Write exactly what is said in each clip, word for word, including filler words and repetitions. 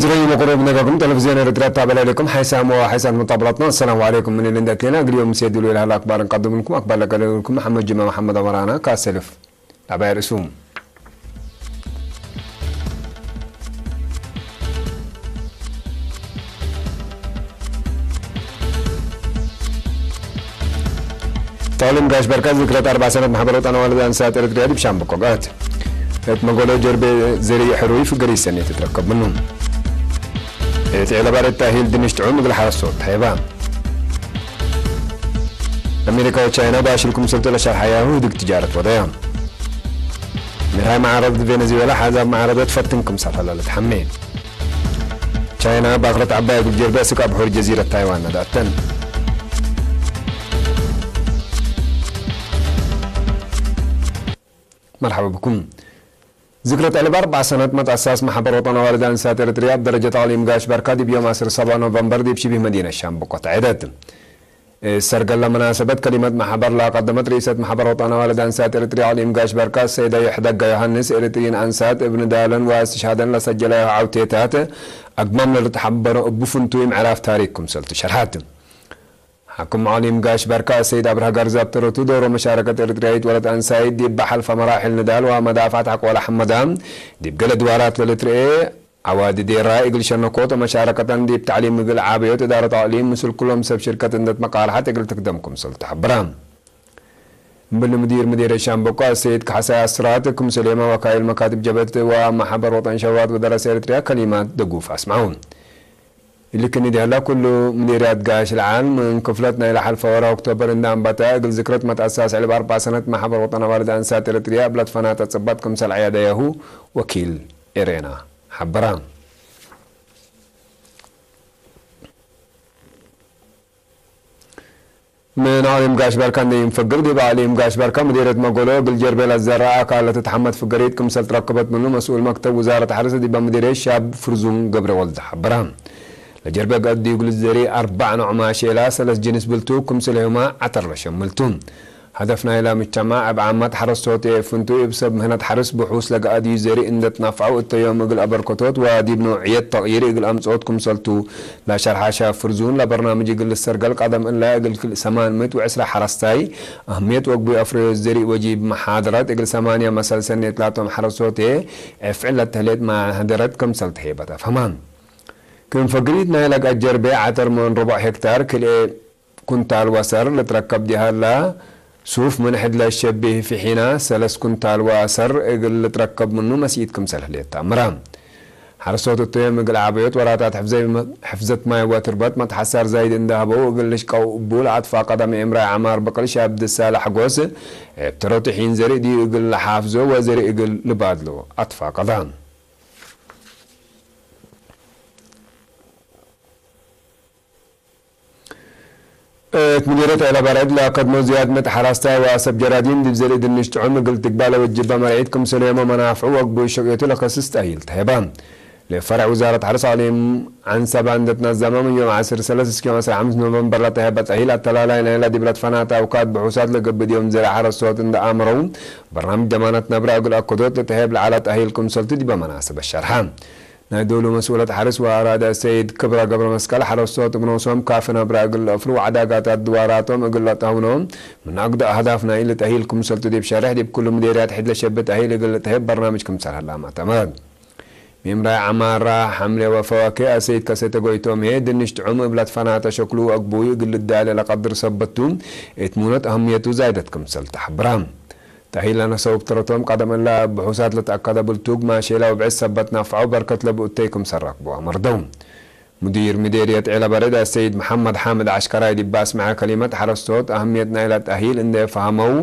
ዝረዩ መቅሩብ ነጋኩም ቴሌቪዝዮን ኤረትርያ ታበለ ለኩም ሓይሳም ወሓይሳት መጣብላትና። አሰላሙ ዐለይኩም። ምን እንዴ አትሌና እግል ዮም ምሴ ድሉ ኢለሀለ አክባር እንቀድምልኩም። አክባር ለቀደምልኩም መሐመድ ጅማ መሐመድ አመራና ካሰልፍ ለባይ ርእሱ። ተዕሊም ጋሽ በርካ ዝክረት አርበዕ ሰነት ማሕበር ወጠን አዋልድ አንሳት ኤረትርያ ዲብ ሻምበቆ ገአት። እት መጎሎ ጀርቤ ዘርእ ሕሩይ ፍገሪ ሰኔት ትትረከብ ምኑ። እት ዔለባርድ ተእሂል ድንሽ ጥዑም እግል ሐረስቶት ተሀይባ። አሜሪካ ወቻይና ባሽል ክምሰልቱ ለሸርሐያሁ ህድግ ትጃረት ወደያ። ሚርሃይ መዓረድ ቬነዙዌላ ሓዛብ መዓረደት ፈትን ክምሰል ሀለ ልትሐሜ። ቻይና ባክረት ዐባይ እግል ጀርበ ስክ አብሑር ጀዚረት ታይዋን ነድአተን። መርሐባ ብኩም። ዝክረት ዕልብ አርበዕ ሰነት መትአሳስ መሐበር ወጠን አዋልድ አንሳት ኤረትርያ እብ ደረጀት አቅሊም ጋሽ በርካ ዲብ ዮም ዐስር ሰባ ኖቨምበር ዲብ ሽቢህ መዲነት ሻምበቆ ተዐደት። እት ሰርገለ መናሰበት ከሊመት መሐበር ለአቀደመት ርኢሰት መሐበር ወጠን አዋልድ አንሳት ኤረትርያ አቅሊም ጋሽ በርካ ሰይደ ይሕደጋ ዮሐንስ፣ ኤረትርይን አንሳት እብ ንዳለን ወአስትሽሃደን ለሰጀለያሁ ዐውቴታት አግማም ለልትሐበሮ እቡ ፍንቱይ ምዕራፍ ታሪክ ክምሰልቱ ሸርሐት። ሐክም አቅሊም ጋሽ በርካ አሰይድ አብርሃ ጋርዛብ ተረቱ ዶሮ መሻረከት ኤረትርያይት ወለት አንሳይት ዲብ ሐልፈ መራሕል ንዳል ወመዳፍዐት ሐቆለ ሐመዳ ዲብ ገሌ ድዋራት ለልትርኤ ዐዋዲ ዴራ እግል ሸነኮት ወመሻረከተን ዲብ ተዕሊም እግል ዓበዮት እዳረት አቅሊም ምስል ኩሎም ሰብ ሽርከት እንዴ ትመቃርሐት እግል ትክደም ክምሰል ተሐብረ። እምብል ሙዲር ምዴርየት ሻምበቆ አሰይድ ከሐሳይ አስራት ክምሰሌመ ወካይል መካትብ ጀብህት ወመሐበር ወጠን ሸባባት ወደረሰ ኤረትርያ ከሊማት ደጉፍ አስምዐው። እሊ ክኒ ዲህላ ኩሉ ምዴርያት ጋሽ ለዓል ምን ክፍለት ናይ ለሐልፈ ወርሕ ኦክቶበር እንዴ አንበተ፣ እግል ዝክረት መትአሳስ ዕልብ አርበዕ ሰነት መሐበር ወጠን አዋልድ አንሳት ኤረትርያ እብ ለትፈናተ ጽባጥ ክምሰል ዐያደያሁ ወኪል ኤሬና ሐበረ። ምን አቅሊም ጋሽ በርካ እንዴ ኢንፈግር፣ ዲብ አቅሊም ጋሽ በርካ ምዴርየት መጎሎ እግል ጀርቤ ለዘረአ አካል ለትትሐመድ ፍገሪት ክምሰል ትረከበት ምኑ መስኡል መክተብ ውዛረት ሐርስ ዲበ ምዴርየት ሻብ ፍርዙን ገብረወልድ ሐበረ። ለጀርቤ ገአት ዲብ እግል ዘሪእ አርበዕ ኖዕ ማሼላ፣ ሰለስ ጅንስ ብልቱ፣ ክምስሌሁመ ዐተር ለሸምል ቱ። ሀደፍ ናይላ ምጅተማዕ እብ ዓመት ሐረስቶት ፍንቱይ እብ ሰብ ምህነት ሐርስ ብሑስ ለገአድዩ ዘሪእ እንዴ ትናፍዐው እተ ዮም እግል አበርከቶት ወዲብ ነውዕየት ተቅይር እግል አምጽኦት ክምሰልቱ ለሸርሐ ሻብ ፍርዙን፣ ለበርናምጅ እግል ልሰርገል ቀደም እለ እግል ክል ሰማን ምእት ወዕስራ ሐረስታይ አህምየት ወግቡይ አፍረዮት ዘሪእ ወጂብ መሓደረት እግል ሰማንያ መሰል ሰኔት ላቶም ሐረስቶት እብ ፍዕል ለተህሌት መሓደረት ክምሰል ተሄበት አፍሀመ። ክም ፈግሪት ናይለ ገአት ጀርቤ ዐተር ምን ርቡዕ ሄክታር ክልኤ ኩንታል ወሰር ልትረከብ ዲሀላ፣ ሱፍ ምን ሕድ ለሸቢህ ፊሒና ሰለስ ኩንታል ወአሰር እግል ልትረከብ ምኑ መስኢት ክምሰል ህሌት ተአምረ። ሐረስቶት እተ ዮም እግል ዐበዮት ወራታት ሕፍዘ-፣ ሕፍዘት ማይ ወትርበት መትሐሳር ዛይድ እንዴ ሀበው እግል ልሽቀው እቡ ለአትፋቀደ ምእምራይ ዐማር ብቅል ሻብ ድሳለ ሐጎስ፣ እብ ተረቱ ሒን ዘሪእ ዲዩ እግል ለሓፍዞ ወዘሪእ እግል ልባድሎ አትፋቀደ። እት ምዲርየት ዔለ በርዕድ ለአከድሞ ዝያድ ምእት ሐራስታይ ወአሰብ ጀራዲን ዲብ ዘርእ ድንሽ ጥዑም እግል ትግባእ ለወጅበ መርዒት ክምሰልዮመ መናፍዑ ወግቡይ ሸቅየቱ ለከስስ ተእሂል ተሀበ። ለፈርዕ ውዛረት ሐርስ አቅሊም ዐንሰበ እንዴ ትነዘመ ምን ዮም ዐስር ሰለስ እስክ ዮም ዐስር ሐምስ ኖቨምበር ለተሀበ ተእሂል አተላላይ ናይለ ዲብ ለትፈናተ አውካድ ብሑሳት ለገብእ ዮም ዘርእ ሐረስቶት እንዴ አምረው በርናምጅ ደማነት ነብረ እግል አከዶት ለተሀብ ለዐለ ተእሂል ክምሰልቱ ዲበ መናሰበት ሸርሐ። ናይ ዶሉ መስኡለት ሐርስ ወአራደ ሰይድ ክብረ ገብረመስቀል፣ ሐረስቶት እብ ኖሶም ካፊ ነብረ እግል ለአፍሩ ወዐዳጋት አድዋራቶም እግል ለአትሀውኖ፣ ምን አግደ አህዳፍ ናይ እሊ ተእሂል ክምሰልቱ ዲብ ሸርሕ፣ ዲብ ኩሉ ምዴርያት ሕድ ለሸብት ተእሂል እግል ልትሀብ በርናምጅ ክምሰል ሀለ አማተመት። ሚምራይ ዐማራ ሐምሌ ወፈዋኬ አሰይድ ከሰተ ጎይቶም ህዬ፣ ድንሽ ጥዑም እብ ለትፈናተ ሸክሉ ወአግቡዩ እግል ልዳሌ ለቀድር ሰበት ቱ፣ እት ሙነት አህምየቱ ዛይደት ክምሰል ተሐብረ። ተእሂል ለነሰው እብ ተረቶም ቀደም እለ ብሑሳት ለተአከደ ብልቱግ ማሼላ ወብዕድ ሰበት ናፍዐው በርከት ለቡ እተይ ክምሰል ረክቡ አመርደው። ሙዲር ምዴርየት ዔለ በርዕድ አሰይድ መሐመድ ሓምድ ዐሽከራይ ዲብ አስመዐ ከሊመት ሐረስቶት አህምየት ናይለ ተእሂል እንዴ ፈሀመው፣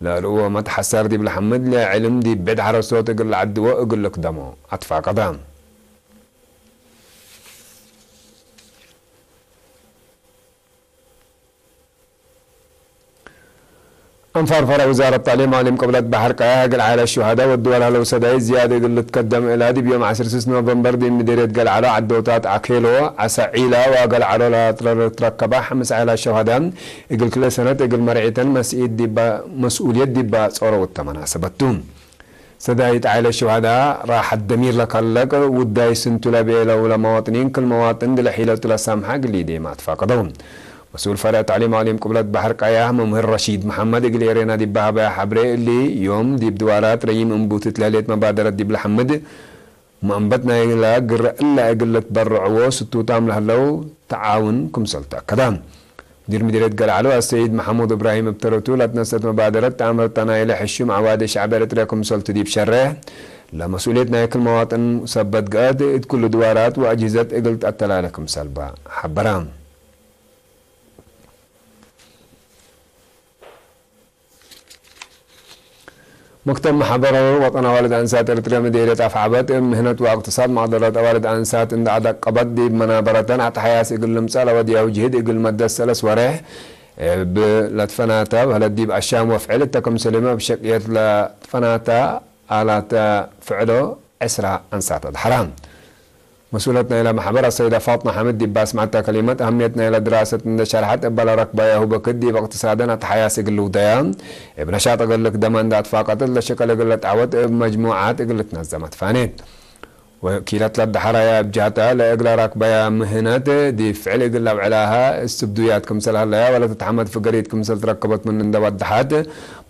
ለልእወ መትሐሰር ዲብ ለሐምድ ለዕልም ዲብ ብዕድ ሐረስቶት እግል ለዐድዎ እግል ልክደሞ አትፋቀደ። አንፋር ፈርዕ ውዛረት ተዕሊም አቅሊም ቅብለት በሐር ቀያሕ እግል ዐይላት ሹሀዳ ወድወል ሀለው ሰዳይት ዝያድ እግል ልትከደም እላ፣ ዲብ ዮም ዐስር ስስ ኖቨምበር ዲብ ምዴርየት ገልዐሎ ዐዶታት አኬሎ፣ ዐሰ ዒላ ወገልዐሎ ለትረከበ ሐምስ ዐይላት ሹሀዳ እግል ክልኤ ሰነት እግል መርዒተን መስኢት ዲበ፣ መስኡልየት ዲበ ጾረው እተ መናሰበት ቱ። ሰዳይት ዓይለት ሹሀዳ ራሐት ደሚር ለከለቅ ውዳይ ስንቱ ለቤለው ለመዋጥኒን ክል መዋጥን እግል ሒለቱ ለሳምሐ እግል ኢዴማ አትፋቀደው። መስኡል ፈርዕ ተዕሊም አቅሊም ቅብለት በሐር ቀያህ መምህር ረሺድ መሐመድ እግል ኤሬና ዲብ ሀበያ ሐብሬ እሊ ዮም ዲብ ድዋራት ረዪም እንቡትት ለህሌት መባደረት ዲብ ለሐምድ መአንበት ናይላ ግረ እለ እግል ልትበረዕዎ ስቱታም ለህለው ተዓውን ክምሰል ተአከደ። ሙዲር ምዲርየት ገልዐሉ አሰይድ መሐሙድ እብራሂም እብ ተረቱ ለትነሰአት መባደረት ተአምርተ ናይለ ሕሹም ዐዋዴ ሸዕብ ኤረትርያ ክምሰልቱ ዲብ ሸሬሕ፣ ለመስኡልየት ናይ ክል መዋጥን ሰበት ገአት እት ኩሉ ድዋራት ወአጅህዘት እግል ተአተላለ ክምሰልባ ሐበረ። መክተብ መሕበራዊ ወጠን አዋልድ አንሳት ኤረትርያ ምዴርየት አፍዐበት፣ እብ ምህነት ወእቅትሳድ መቅደረት አዋልድ አንሳት እንደ አደቀበት፣ ዲብ መናበረተን አትሐያስ እግል ልምጸእ ለወድያሁ ጅህድ እግል መደት ሰለስ ወሬሕ እብ ለትፈናተ በህለት፣ ዲብ አሻም ወፍዕል እተ ክምሰልመ እብ ሸቅየት ለትፈናተ አላተ ፍዕሎ ዕስራ አንሳት አድሐራ። መስኡለት ናይለ መሕበር አሰይደ ፋጥመ ሐምድ ዲብ ባስመዐተ ከሊመት፣ አህምየት ናይለ ድራሰት እንዴ ሸርሐት፣ እበ ለረክበያሁ በክት ዲብ እቅትሳደን አትሐያስ እግል ልውደያ፣ እብ ነሻጥ እግል ልክደመ እንዴ አትፋቀደት፣ ለሸቀል እግል ልትዐወት እብ መጅሙዓት እግል ልትነዘመ ትፋኔት። ወኪለት ለደሐረያ እብ ጀህተ፣ ለእግለ ረክበያ ምህነት ዲብ ፍዕል እግል ለአብዕላሀ እስትብዱያት ክምሰል ሀለያ ወለትትሐመድ ፍገሪት ክምሰል ትረከበት ምን እንዴ ወደሐት፣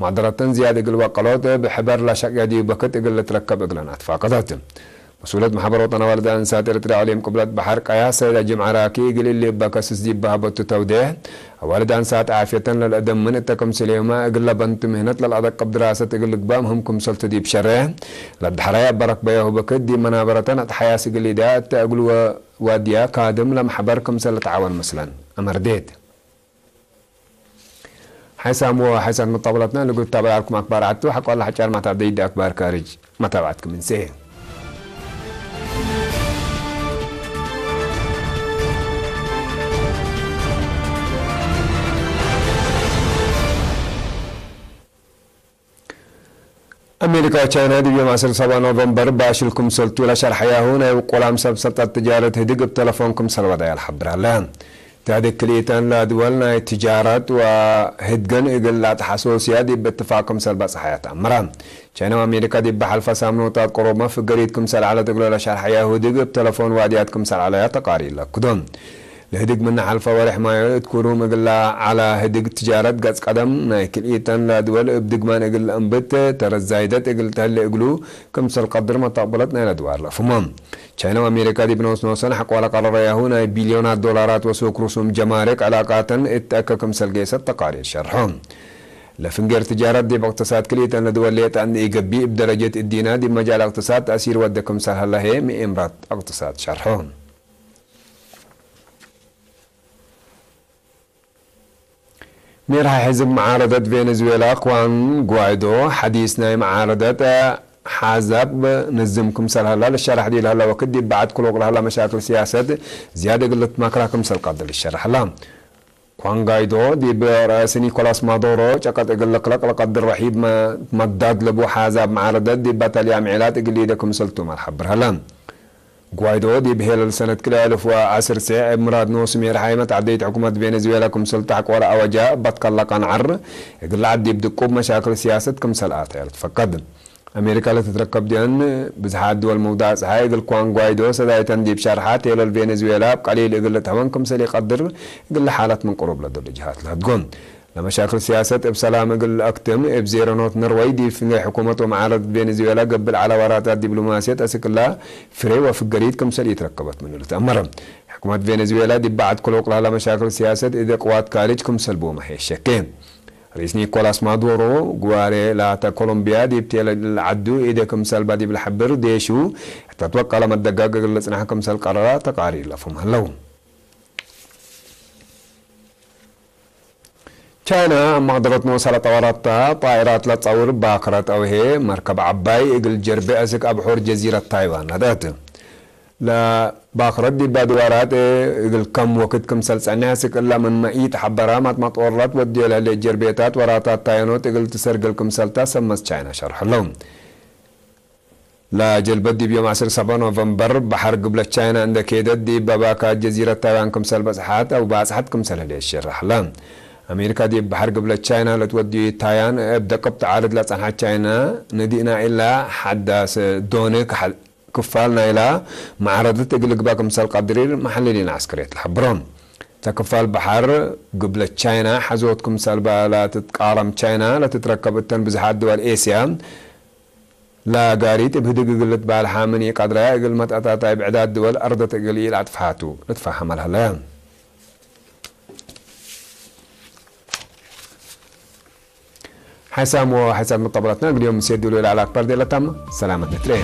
መቅደረተን ዝያድ እግል ወቀሎት እብ ሕበር ለሸቅየ ዲብ በክት እግል ልትረከብ እግለን አትፋቀደት። መስኡለት መሕበር ወጠን አዋልድ አንሳት ኤረትርያ አቅሊም ቅብለት በሐር ቀያህ ሰይዳ ጅምዓ ራኪ፣ እግል እሊ እበ ከስስ ዲብ በሀበቱ ተውዴሕ፣ አዋልድ አንሳት ዓፍየተን ለልአደምን እተ ክምስሌሁመ እግል ለበንቱ ምህነት ለልአደቅብ ድራሰት እግል ልግባእ ምህም ክምሰልቱ ዲብ ሸሬሕ፣ ለደሐራይ አበ ረክበያሁ በክት ዲብ መናበረተን አትሐያስ እግል ኢዳ እተ እግል ወ-፣ ዋድያ ካድም ለመሕበር ክምሰል ልትዓወን ምስለን አመርዴት። ሓይሳም ወሓይሳት መጣብለትና ንጉድ ታበል አልኩም አክባር ዐቱ፣ ሐቆ ለሐጫር ማታብደይድ አክባር ካርጅ መታብዐትኩም እንሴ። አሜሪካ ወቻይና ዲብ ዮም ዐስር ሰባ ኖቨምበር ባሽል ክምሰልቱ ለሸርሐያሁ፣ ናይ ውቁላም ሰብ ሰልጠት ትጃረት ህድግ እብ ተለፎን ክምሰል ወደያ ለሐብር ሀለ። ተህድግ ክልኢተን ለድወል ናይ ትጃረት ወህድገን እግል ለአትሐሶስያ ዲብ እትፋቅ ክምሰል በጽሐያ ተአምረ። ቻይና ወአሜሪካ ዲብ ሐልፈ ሳምኖታት ቅሩብ መፍገሪት ክምሰል ዐለት እግሎ ለሸርሐያሁ ህድግ እብ ተለፎን ዋድያት ክምሰል ዐለያ ተቃሪር ለአክዶ። ለህድግ ምነ ሐልፈ ወሬሕ ማዮ እት ኩሩም እግላ ዐላ ህድግ ትጃረት ገጽ ቀደም ናይ ክልኢተን ለድወል እብ ድግማን እግል ለአንብት ተረት ዛይደት እግል ተህሌ እግሉ ክምሰል ቀድር መተቅብለት ናይለ ድዋር ለአፍሞ። ቻይና ወአሜሪካ ዲብ ኖስ ኖሰን ሐቆ ለቀረረያሁ ናይ ቢልዮናት ዶላራት ወሱክ ርሱም ጀማርክ ዕላቃተን እት አከ ክምሰል ጌሰት ተቃሪር ሸርሖ። ለፍንጌር ትጃረት ዲብ እቅትሳድ ክልኢተን ለድወል ሌጠ እንዴ ኢገብእ እብ ደረጀት እዲና ዲብ መጃል እቅትሳድ ተእሲር ወደ ክምሰል ሀለ ህዬ ምኤምራት እቅትሳድ ሸርሖ። ሜርሐ ሕዝብ መዓረደት ቬኔዙዌላ ክዋን ጓይዶ፣ ሐዲስ ናይ መዓረደት ሓዛብ ንዝም ክምሰል ሀላ ልሸራሕ ዲብ ለሀላ ወክድ፣ ዲብ በዐድ ክሉቅ ለሀላ መሻክል ሲያሰት ዝያድ እግል ልትማክራ ክምሰል ቀድር ልሸራሕ ሀላ። ክዋን ጓይዶ፣ ዲብ ረአስ ኒኮላስ ማዶሮ ጨቀጥ እግል ልክለቅ ለቀድር ረሒብ መ-፣ መዳድ ለቡ ሓዛብ መዓረደት፣ ዲብ በተልያ ምዕላት እግል ኢደ ክምሰል ቱመ ለሐብር ሀላ። ጓይዶ ዲብ ሄለል ሰነት ክልኤ አልፍ ወዐስር ሴዕ እብ ምራድ ኖሱ ሜርሓይ መትዐደይት ሕኩመት ቬኔዙዌላ ክምሰል ተሐቆለ አወጃ እበ ትከለቀን ዐር እግል ለዐድ ዲብ ድቁብ መሻክል ሲያሰት ክምሰል አተየ ልትፈቀድ። አሜሪካ ለትትረከብ ዲአን ብዝሓት ድወል መውዳዕ ጸሓይ እግል ክዋን ጓይዶ ሰዳይተን ዲብ ሸርሓት ሄለል ቬኔዙዌላ እብ ቀሊል እግል ልትሀወን ክምሰል ኢቀድር እግል ለሓለት ምን ቅሩብ ለዶል ጅሃት ለህድጎ። ለመሻክል ሲያሰት እብ ሰላም እግል ለአክትም፣ እብ ዜሮ ኖት ነርወይ ዲብ ፍንጌ ሕኩመት ወመዓረድት ቬኔዙዌላ ገብእ ለዐለ ወራታት ዲብሎማስየት አስክ እላ ፍሬ ወፍገሪት ክምሰል ኢትረከበት ምኑ ልትአመር። ሕኩመት ቬኔዙዌላ ዲብ በዐድ ክሉቅ ለሀላ መሻክል ሲያሰት እደ ቅዋት ካርጅ ክምሰል ቦመ ህዬ ሸኬ። ርኢስ ኒኮላስ ማዱሮ ግዋሬ ላተ ኮሎምቢያ ዲብ ቴለ ለዐዱ ኢደ ክምሰልባ ዲብ ለሐብር ዴሹ እተ ትወቀለ መደጋግ እግል ልጽናሕ ክምሰል ቀረራ ተቃሪር ለፍም ሀለው። ቻይና እብ መቅደረት ኖሰ ለጠወረተ ጣኢራት ለጸውር ባክረት አውሄ መርከብ ዐባይ እግል ጀርቤ አስክ አብሑር ጀዚረት ታይዋን ነድአት። ለባክረት ዲብ አድዋራት እግል ከም ወክድ ክምሰል ጸንሕ አስክ እለ ምን መኢት ሐበራ ማጥማጦረት ወድዮ ለህሌት ጀርቤታት ወራታት ታይኖት እግል ትሰርግል ክምሰልታ ሰመስ ቻይና ሸርሐ ለው። ለጀልበት ዲብ ዮም ዐስር ሰበ ኖቨምበር በሐር ግብለት ቻይና እንደ ኬደት ዲብ በባካ ጀዚረት ታይዋን ክምሰል በጽሐት አው ባጽሐት ክምሰል ህሌት ሽረሕ ለ። አሜሪካ ዲብ በሐር ግብለት ቻይና ለትወድዩ ታያን እብ ደቅብት ዓርድ ለጸንሐት ቻይና፣ ንዲእና እላ ሐዳስ ዶነ ከሐ-፣ ክፋል ናይላ መዓረድት እግል ልግበእ ክምሰል ቀድሪር መሐልሊን ዐስከርየት ለሐብሮ። እተ ክፋል በሐር ግብለት ቻይና ሐዞት ክምሰል በ ለትትቃረም ቻይና ለትትረከብ እተን ብዝሓት ድወል ኤስያ፣ ለጋሪት እብ ህድግ እግል ልትባልሓ ምን ኢቀድረ፣ እግል መትአታታይ ብዕዳት ድወል አርደት እግል ኢለአጥፍሓቱ ልትፋሀም አልሀለ። ሓይሳም ወሓይሳት መጠበላትና እግል ዮም ምሴ ዱሉ ለዐለ አክባር ዴለታም ሰላመት ንትርኤ።